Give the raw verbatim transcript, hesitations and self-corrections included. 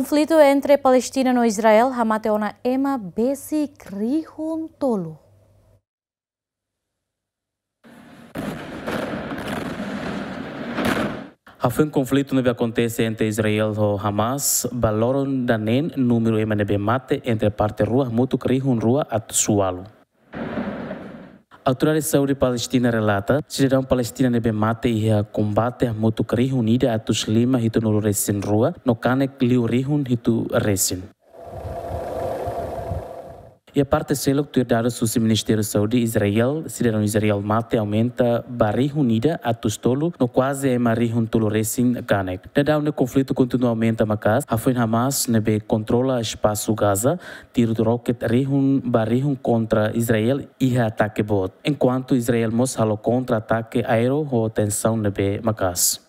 Konflitu entre Palestina no Israel hamate ona ema besik rihun tolu. Hafoin konflitu ne'ebé akontese entre Israel ho Hamas, ba loron ida-ne'e númeru ema ne'ebé mate entre parte rua hamutuk rihun rua atus ualu. Autoridade Saúde Palestina relata, sidadaun Palestina ne'ebé mate iha kombate hamutuk rihun ida atus lima hitunulu resin rua, no kanek liu rihun hitu resin. Iha parte seluk, tuir dadus husi Ministériu Saúde Israel, sidadaun Israel mate aumenta ba rihun ida atus tolu, no kuaze ema rihun tolu resin kanek. Daudaun ne'e konflitu kontinua aumenta maka'as, hafoin Hamas ne'ebé kontrola espasu Gaza, tiru roket rihun ba rihun kontra Israel iha atake boot. Enkuantu Israel mós halo kontra-atake aéreu ho tensaun ne'ebé maka'as.